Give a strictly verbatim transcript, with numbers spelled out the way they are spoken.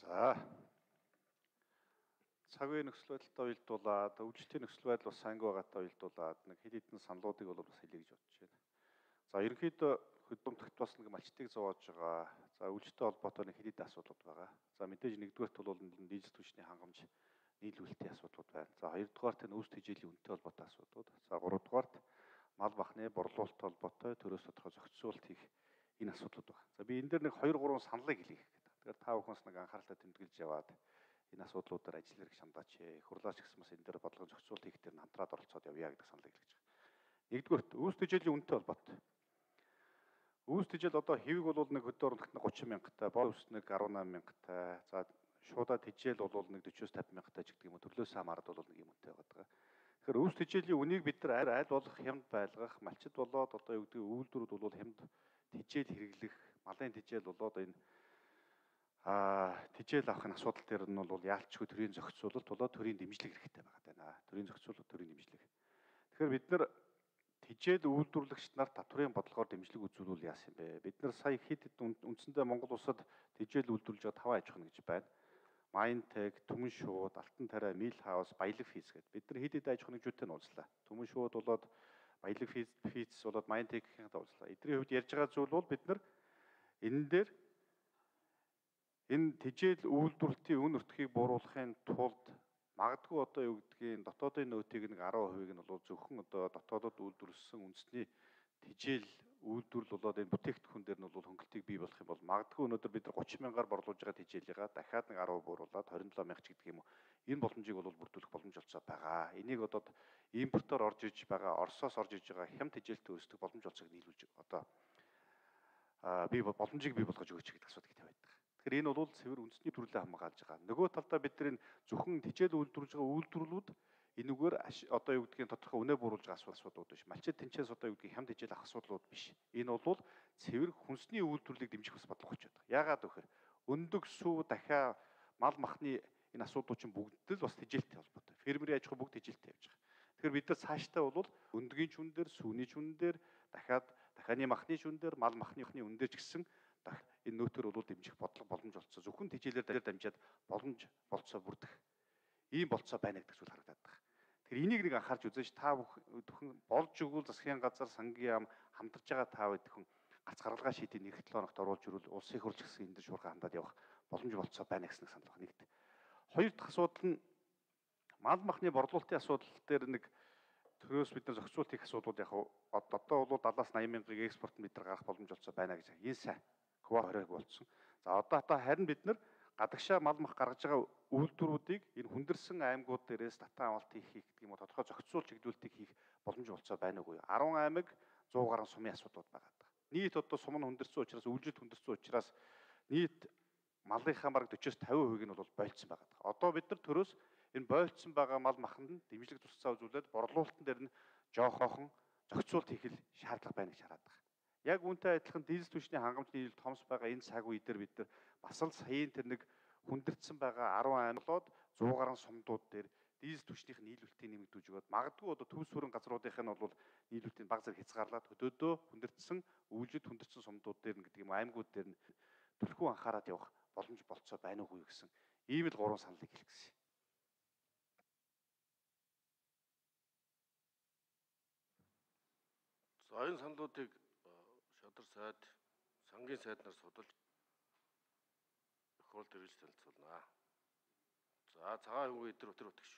За цаг үеийн нөхцөл байдалтай уялдуулаад өвчлөлтийн нөхцөл байдал бас санги байгаатай уялдуулаад нэг хэд хэдэн саналуудыг бол бас хэлье гэж бодож байна. За ерөнхийдөө хөдөлмөрт бас нэг малчтыг зовоож байгаа. За өвчлөлттэй холбоотой нэг хэд хэдэн асуудлууд байгаа. За мэдээж нэгдүгээрт бол дижитал түвшний хангамж нийлүүлэлтийн асуудлууд байна. За хоёрдугаарт нь өвс тэжээлийн үнэтэй холбоотой асуудлууд. За гуравдугаарт мал бахны борлуулалттай холбоотой төрөөс тодорхой зохицуулалт хийх энэ асуудлууд байна. За би энэ дээр нэг хоёр гурван саналыг хэлье гэх. Тэгэхээр та бүхнээс нэг анхааралтай тэмдэглэж яваад энэ асуудлуудаар ажил хэрэг шандаач. Хурлаач гэсэн бас энэ дээр бодлого зохицуулалт хийх дээр хамтраад оролцоод явъя гэдэг саналыг хэлж байгаа. Нэгдүгээрт өвс тэжээлийн үнэтэй холбоотой. Өвс тэжээл одоо хэвийг бол нэг хөдөө оруулахт гучин мянгаттай, бор өвс нэг арван наман мянгаттай. За шуудаа тэжээл бол нэг дөчөөс тавин мянгаттай ч гэдэг юм уу. Төрлөөс хамаарат бол нэг юм үнэтэй байгаа. Тэгэхээр өвс тэжээлийн үнийг бид нар аль болох хямд байлгах, малчид болоод одоо юу гэдэг үйлдвэрүүд бол хямд тэжээл хэрэглэх, малын тэжээл болоод энэ а тэжээл авахын асуудал дээр нь бол яалтчгүй төрийн зохицуулалт болоод төрийн дэмжлэг хэрэгтэй байгаа даа. Төрийн зохицуулалт, төрийн дэмжлэг. Тэгэхээр бид нар тэжээл үйлдвэрлэгч нар татврын бодлогоор дэмжлэг үзүүлвэл яасан бэ? Бид нар сая хэд хэд үндсэндээ Монгол улсад тэжээл үйлдвэрлэж байгаа таван аж ахуйн гэж байна. Майнтек, Түмэн шууд, Алтан тариа, Мил хаус, Баялаг физ гэдэг. Бид нар хэд хэд аж ахуйн нэгжүүдтэй нь уулзлаа. Түмэн шууд болоод Баялаг физ физ болоод Майнтекийн уулзлаа. Эдний хувьд ярьж байгаа зүйл бол бид нар энэ дээр энэ тэжээл үйлдвэрлэлтийн үн өртгийг бууруулахын тулд магадгүй одоо юу гэдгийг дотоодын нөөтийг нэг арван хувийг нь бол зөвхөн одоо дотоодод үйлдвэрлэсэн үндэсний тэжээл үйлдвэрлэл болоод энэ бүтээгдэхүүн дээр нь бол хөнгөлтийг бий болох юм бол магадгүй өнөөдөр бид нар гучин мянгаар борлуулж байгаа тэжээлийгаа дахиад нэг арван бууруулаад двадцать seven мянга ч гэдэг юм уу. Энэ боломжийг бол бүрдүүлэх боломж олцоо байгаа. Энийг одоо импортоор орж иж байгаа, Оросоос орж иж байгаа хямд тэжээлтэй өрсөлдөх боломж олцоог нийлүүлж одоо би боломжийг бий болгож өгөөч гэдэг асуудыг тавиад байгаа. Тэгэхээр энэ бол цэвэр үндэсний төрлөө хамгаалж байгаа. Нөгөө талдаа бид нар энэ зөвхөн тэжээл үйлдвэрлэж байгаа үйлдвэрлэлүүд энэгээр одоо юу гэдгийг тодорхой үнэ бууруулж байгаа асуудлууд биш. Малчид тэнцээс одоо юу гэдгийг хямд тэжээл авах асуудлууд биш. Энэ бол цэвэр хүнсний үйлдвэрлэлийг дэмжих бас бодлого очиод байгаа. Яагаад гэвэл өндөг сүү дахиа мал махны энэ асуудлууд чинь бүгд л бас тэжээлтэй холбоотой. Фермерийн аж ахуй бүгд тэжээлтэй явж байгаа. Тэгэхээр бид нар цаашдаа бол өндгийн шүн дээр, сүүний шүн дээр, дахиад дахианы махны шүн дээр, мал махны шүн дээр ч гэсэн энэ нөөтөр бол дэмжих бодлого боломж олцоо. Зөвхөн тэжээлээр дамжаад боломж болцоо бүрдэх ийм болцоо байна гэдэг зүйл харагдаад байгаа. Тэгэхээр энийг нэг анхаарч үзэж та бүхэн болж өгвөл засгийн газар, сангийн яам хамтарч байгаа та бүхэн гац гаргалгаа шийдийн нэг долоо хоногт оруулж ирвэл улсын хурлч гэсэн энэ дөр шуурхай хандаад явах боломж болцоо байна гэсэн санал байна. Нэгт. Хоёр дахь асуудал нь мал махны борлуулалтын асуудал дээр нэг төрөөс бид нар зохицуулт хийх асуудлууд яг одоо бол дадлаас найман мянгаыг экспорт бид нар гарах боломж олцоо байна гэж. Энэ сайн. Ква хориг болсон. За одоо та харин бид нар гадагшаа мал мах гаргаж байгаа үйлдвэрүүдийг энэ хүндэрсэн аймагуд дээрээс татан авалт хийх гэдэг юм уу тодорхой зохицуул чиглүүлэлтийг хийх боломж болцоо байна уугүй. арван аймаг сто гаруй сумын асуудлууд байгаа. Нийт одоо сум нь хүндэрсэн учраас үйлдвэрлэлт хүндэрсэн учраас нийт малынхаа бараг forty-с fifty хувийг нь бол болцсон байгаа. Одоо бид нар төрөөс энэ болцсон байгаа мал маханд дэмжлэг тусцаа үзүүлээд борлуулалтын дээр нь жоохоохон зохицуулт хийх шаардлага байна гэж хараад байгаа. Яг үүнтэй адилхан дижитал түвшний хангамж нийлүүлэлт томс байгаа энэ цаг үе дээр бид нар бас л саяын тэр нэг хүндэрсэн байгаа арван аймагууд сто гаруй сумдууд дээр дижитал түвшнийх нийлүүлэлтийг нэмэгдүүлж өгөөд магадгүй одоо төвс бүрэн газруудынх нь бол нийлүүлэлтийн баг зэрэг хязгаарлаад хөдөөдөө хүндэрсэн өвлөд хүндэрсэн сумдууд дээр нь гэдэг юм аймагуд дээр нь төлхөө анхаарат явах боломж болцоо байна уугүй гэсэн ийм л гурван саналыг хэлэх гэсэн. За энэ саналуудыг шадар сайд, сангийн сайднаар судалж тохиолдол хэрэгж танилцуулнаа. За цагаан өнгө өдр өтөр өтгөш.